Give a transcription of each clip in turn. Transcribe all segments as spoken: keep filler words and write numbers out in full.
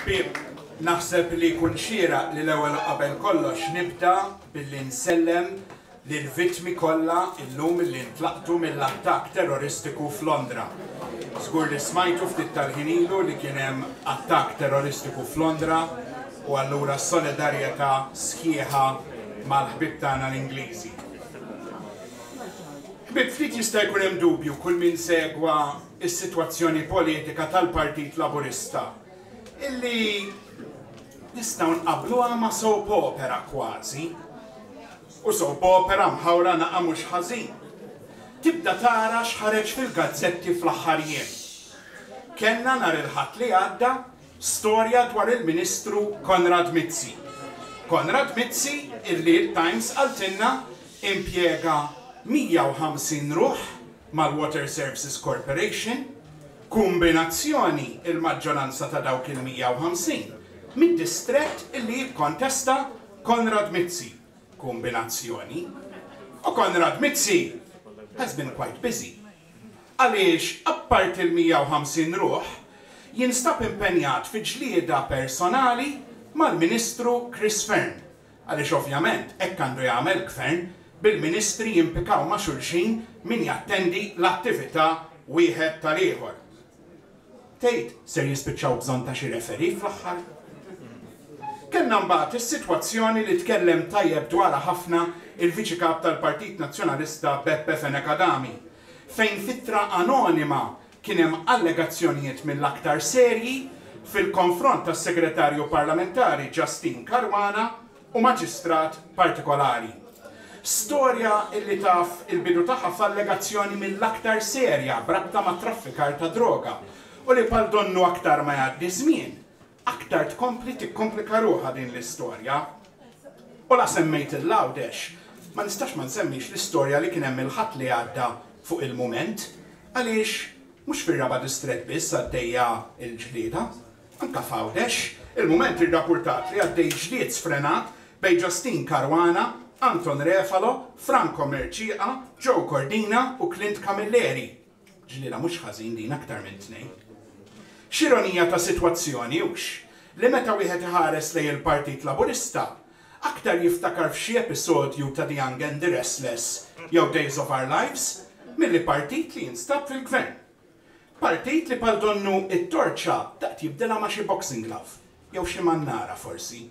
Ħbieb, naħseb li jkun xieraq li l-ewwel u qabel kollox nibda billi nsellem lill-vittmi kollha illum li ntlaqtu mill-attakk terroristiku f'Londra. Żgur li smajtu ftit tal-ħin ilu li kien hemm attakk terroristiku f'Londra u allura solidarjetà sħiħa mal-ħbieb tagħna l-Ingliżi. Ħbieb, ftit jista' jkun hemm dubju kull min segwa is-sitwazzjoni politika tal-Partit Laburista illi nistgħu nqabbluha ma' soap opera kważi. U soap opera mħawra naqa mhux ħażin. Tibda tara x'ħareġ fil-gazzetti fl-aħħar jiem. Kellna nhar il-Ħadd li għadda storja dwar il-Ministru Konrad Mizzi. Konrad Mizzi illi l-Times qaltilna impjega mija u ħamsin ruħ mal-Water Services Corporation, kombinazzjoni il-maġġoranza ta' dawk il-mija u ħamsin mid-distrett illi jikkontesta Konrad Mizzi. Kombinazzjoni. U Konrad Mizzi has been quite busy. Għaliex, apart il-mija u ħamsin ruħ, jinstab impenjat fi ġlieda personali mal-Ministru Chris Fearne. Għaliex ovvjament hekk għandu jagħmel gvern, bil-ministri jimpikaw ma' xulxin min jattendi l-attività wieħed tal-ieħor. Tgħid ser jispiċċaw bżonn ta' xi referee fl-aħħar? Kellna mbagħad is-sitwazzjoni li tkellem tajjeb dwarha ħafna il-Viċi Kap tal-Partit Nazzjonalista Beppe Fenech Adami, fejn f'ittra anonima kien hemm allegazzjonijiet mill-aktar serji fil-konfront tas-Segretarju Parlamentari Justyne Caruana u maġistrat partikolari. Storja illi taf il-bidu tagħha f'allegazzjoni mill-aktar serja b'rabta ma' traffikar ta' droga u li bħal donnu aktar ma jgħaddi żmien, aktar tkompli tikkomplika ruħha din l-istorja. U la semmejt il-Għawdex, ma nistax ma nsemmix l-istorja li kien hemm il-Ħadd li għadda fuq Il-Mument, għaliex mhux fir-raba' distrett biss għaddejja il-ġlieda, anka f'Għawdex, Il-Mument irrapportat li għaddej ġlied sfrenat bejn Justyne Caruana, Anton Refalo, Franco Mercieca, Joe Cordina u Clint Camilleri. Ġlieda mhux ħażin din, aktar minn tnejn. X'ironija ta' sitwazzjoni hux, li meta wieħed iħares lejn il-Partit Laburista, aktar jiftakar f'xi episodju ta' The Young and the Restless jew Days of Our Lives milli partit li jinstab fil-gvern. Partit li bħal donnu it-torċa daqt jibdilha ma' xi boxing glove jew xi mannara forsi.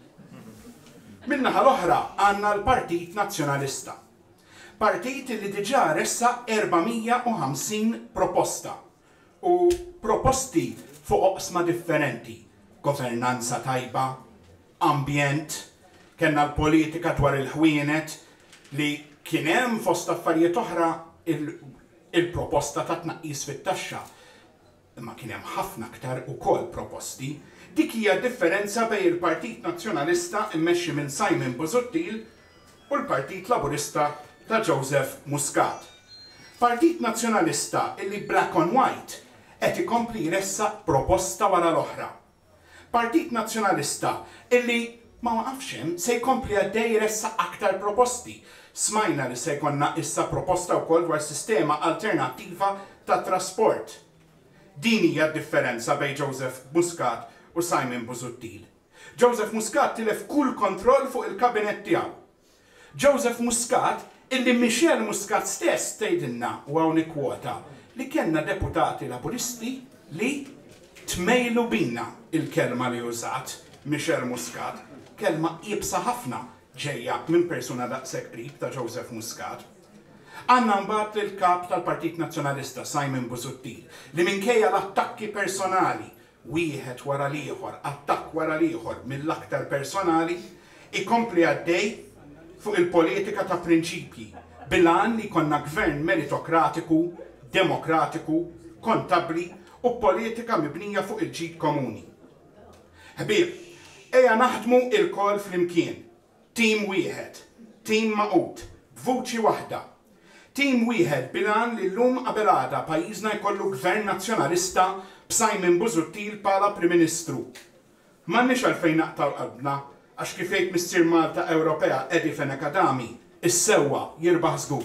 Min-naħa l-oħra għandna l-Partit Nazzjonalista. Partit li diġà ressaq erba' mija u ħamsin proposta u proposti fuq oqsma differenti: governanza tajba, ambjent, kellna l-politika dwar il-ħwienet li kien hemm fost affarijiet oħra il-proposta ta' tnaqqis fit-taxxa. Imma kien hemm ħafna aktar ukoll proposti. Dik hija differenza bejn il-Partit Nazzjonalista immexxi minn Simon Busuttil u l-Partit Laburista ta' Joseph Muscat. Partit Nazzjonalista illi black on white qed ikompli jressaq proposta wara l-oħra. Partit Nazzjonalista illi ma waqafx hemm, se jkompli għaddej jressaq aktar proposti. Smajna li se jkollna issa proposta wkoll dwar sistema alternattiva ta' trasport. Din hija d-differenza bejn Joseph Muscat u Simon Busuttil. Joseph Muscat tilef kull kontroll fuq il-kabinet tiegħu. Joseph Muscat illi Michelle Muscat stess tgħidilna, u hawn kwota, li kellna deputati Laburisti li tmejlu bina, il-kelma li użat Michelle Muscat, kelma iebsa ħafna ġejja minn persuna daqshekk qrib ta' Joseph Muscat. Għandna mbagħad il-kap tal-Partit Nazzjonalista Simon Busuttil li minkejja l-attakki personali wieħed wara l-ieħor, attakk wara l-ieħor mill-aktar personali, ikompli għaddej fuq il-politika ta' prinċipji bil-għan li jkollna gvern meritokratiku, demokratiku, kontabli u politika mibnija fuq il-ġid komuni. Ħbieb, eja naħdmu ilkoll flimkien, tim wieħed, tim magħqud, b'vuċi waħda. Tim wieħed bil-għan li llum qabel għada pajjiżna jkollu gvern nazzjonalista b'Simon Busuttil bħala Prim Ministru. M'għandniex għalfejn naqtgħu qalbna, għax kif jgħid Missier Malta Ewropea Eddie Fenech Adami, is-sewwa jirbaħ żgur.